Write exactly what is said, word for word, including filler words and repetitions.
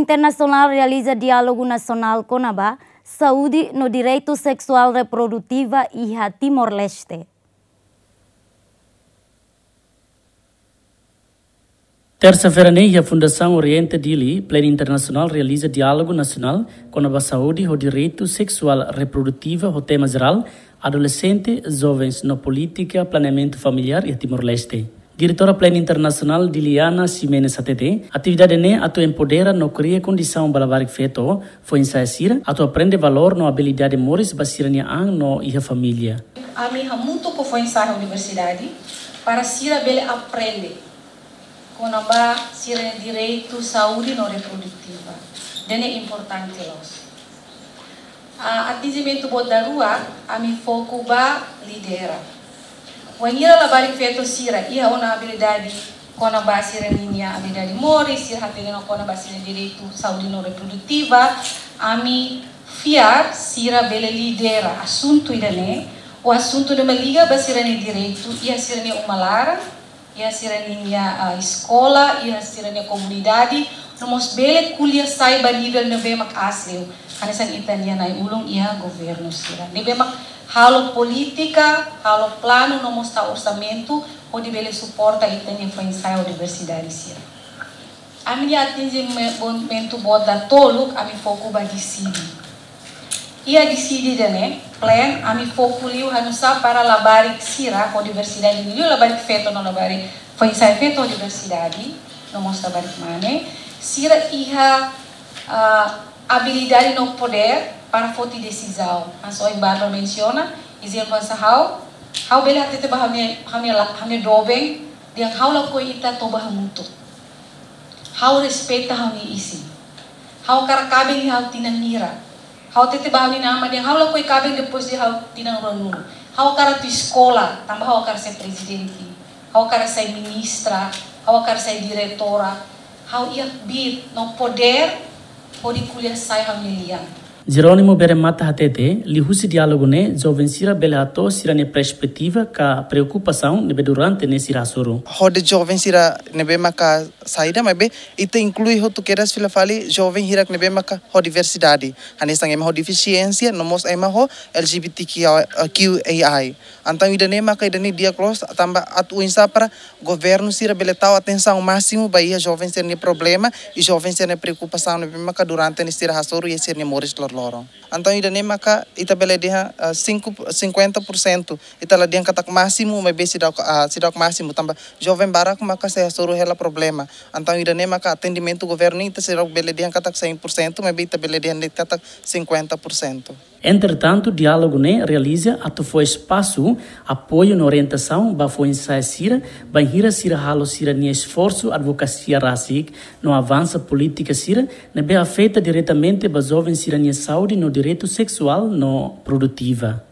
Internasionál realiza diálogu nasionál kona-ba saúde no direitu seksuál reprodutiva iha Timor-Leste. Tersa-feira ne'e, iha Fundasaun Oriente Dili, Plan Internasionál realiza diálogu nasionál kona-ba saúde ho direitu seksuál reprodutiva ho tema jerál adolexente, jovens no polítika planeamentu familiár iha Timor-Leste. Diretora Plan Internasionál Diliana Ximenes hatete, atividade ne'e atu empodera no kria kondisaun ba labarik-feto, foin-sa'e sira, atu aprende valór no abilidade moris ba sira-nia an no iha família. Ami hamutuk ho foin-sa'e universidade, para sira bele aprende kona-ba sira-nia direitu saúde no reprodutiva. Ida-ne'e importante loos. Ah, atinjimentu boot daruak, ami foku ba lidera. Wainhira labarik-feto sira iha ona abilidade kona-ba sira-ninia abilidade moris, sira hatene ona kona-ba sira-nia direitu saúde no reprodutiva, ami fiar sira bele lidera asuntu ida-ne'e, ou asuntu ne'ebé liga ba sira-nia direitu iha sira-nia uma laran, iha sira-ninia, ah, eskola, iha sira-nia komunidade, no mós bele ko'alia sai ba nivel ne'ebé mak aas liu. Hanesan ita-nia na'i-ulun iha governu sira. Ne'ebé mak halo polítika, halo planu, no mós tau orsamentu, hodi bele suporta ita-nia foin-sa'e universidade sira. Ami-nia atinjimentu boot datoluk, ami foku ba DCD. Iha DCD ida-ne'e, plan, ami foku liu hanu'usá para labarik sira, ho diversidade liu labarik-feto no labarik, foin-sa'e feto ho diversidade, no mós labarik mane, sira iha, ah, abilidade no podér para foti desizaun. Hanesan ohin Bárbara mensiona, ezemplu hanesan ha'u, ha'u bele hatete ba ha'u-nia, ha'u-nia la-, ha'u-nia doben, dehan ha'u lakohi ita toba hamutuk. Ha'u respeita ha'u-nia isin. Ha'u hakarak kaben iha ha'u tinan hira. Ha'u hatete ba ha'u-nia inan-aman dehan ha'u lakohi kaben depois de ha'u tinan ruanulu. Ha'u hakarak atu eskola, tanba ha'u hakarak sai prezidente. Ha'u hakarak sai ministra. Ha'u hakarak sai diretora. Ha'u iha kbiit no podér hodi ko'alia sai ha'u-nia lian. Jerónimo Beremata hatete, liuhusi diálogu ne'e, joven sira bele hato'o sira-nia perspetiva ka preokupasaun ne'ebé durante ne'e sira hasoru. Hodi joven sira ne'ebé maka saida, maibé ita inklui hotu kedas fila fali joven hirak ne'ebé maka ho diversidade. Hanesan ema ho defisiénsia, no mós ema ho LGBTQAI. Entaun ida-ne'e maka ida-ne'e di'ak loos, tanba atu oinsá para governu sira bele tau atensaun másimu ba iha joven sira-nia problema, i joven sira-nia preokupasaun ne'ebé maka durante ne'e sira hasoru iha sira-nia moris loroloron. Entaun ida-ne'e maka ita bele dehan, ah, cinco, cinquenta por cento. Ita la dehan katak másimu, maibé seidauk, ah, seidauk másimu, tanba joven barak maka sei hasoru hela problema. Entaun ida-ne'e maka atendimentu governu ita seidauk bele dehan katak cem por cento, maibé ita bele dehan de'it katak cinquenta por cento. Entretantu, diálogu ne'e realiza atu fó espasu, apoiu no orientasaun ba foin-sa'e sira, bainhira sira halo sira-nia esforsu advokasia rasik, no avansa polítika sira ne'ebé afeta diretamente ba joven sira-nia saúde no direitu seksuál no produtiva.